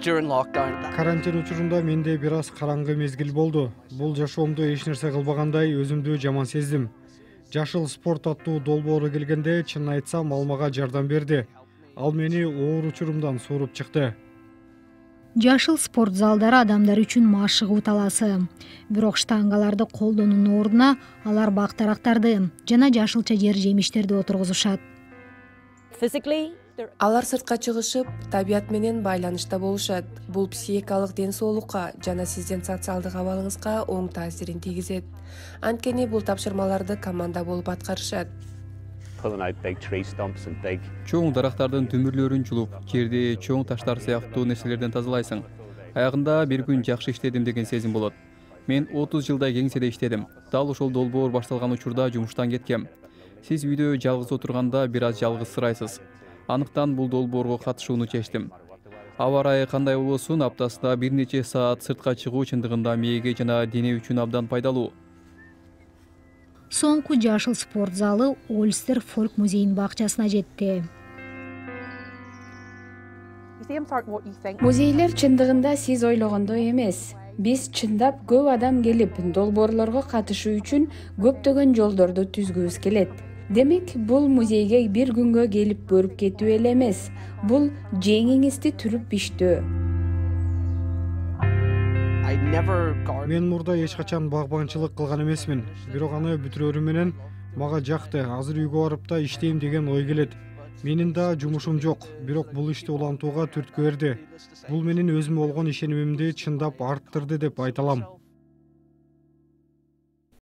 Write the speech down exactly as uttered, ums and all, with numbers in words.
during lockdown. Карантин учурунда менде бир аз караңгы мезгил болду. Бул жашоомдо эч нерсе кылбагандай өзүмдү жаман сездим. Жашыл спорт аттуу долбоору келгенде, чын айтсам, ал мага жардам берди. Ал мени оор учурумдан сууруп чыкты. Жашыл спорт залдары адамдар үчүн машыгуу таласы. Бирок штангаларды колдонуунун ордуна алар бак-дарактарды жана жашылча жер жемиштерди отургузушат. Алар сыртка чыгышып, табият менен байланышта болушат. Бул психикалык ден соолукка жана сиздин социалдык абалыңызга оң таасирин тийгизет. Анткени бул тапшырмаларды команда болуп аткарышат. Чоң дарактардын түмүрлөрүн чулуп, жерди чоң таштар сыяктуу нерселерден тазалайсың. Аягында бир күн жакшы иштедим деген сезим болот. Мен отуз жылдай кеңседе иштедим. Дал ошол долбоор башталган учурда жумуштан кеткем. Сиз үйдө жалгыз отурганда бир аз жалгызсырайсыз. Анықтан бул долбоорго катышууну чечтим. Аба ырайы кандай болбосун, аптасында бир нече саат сыртка чыгуу чындыгында мээге жана дене үчүн абдан пайдалуу. Соңку жашыл спорт залы Ольстер фолк музейинин бакчасына жетти. Музейлер чындыгында сиз ойлогондой эмес. Биз чындап көп адам келип, долбоорлорго катышуу үчүн көптөгөн жолдорду түзгүбүз келет. Демек, бул музейге бир күнгө келип көрүп кетүү эле эмес. Бул жеңиңизди түрүп биштөө. Мен мурда эч качан багбанчылык кылган эмесмин. Бирок аны бүтүрөрү менен мага жакты. Азыр үйгө барып да иштейм деген ой келет. Менин да жумушум жок, бирок бул ишти улантууга түрткү берди. Бул менин өзүмө болгон ишенимимди чындап арттырды деп айта алам.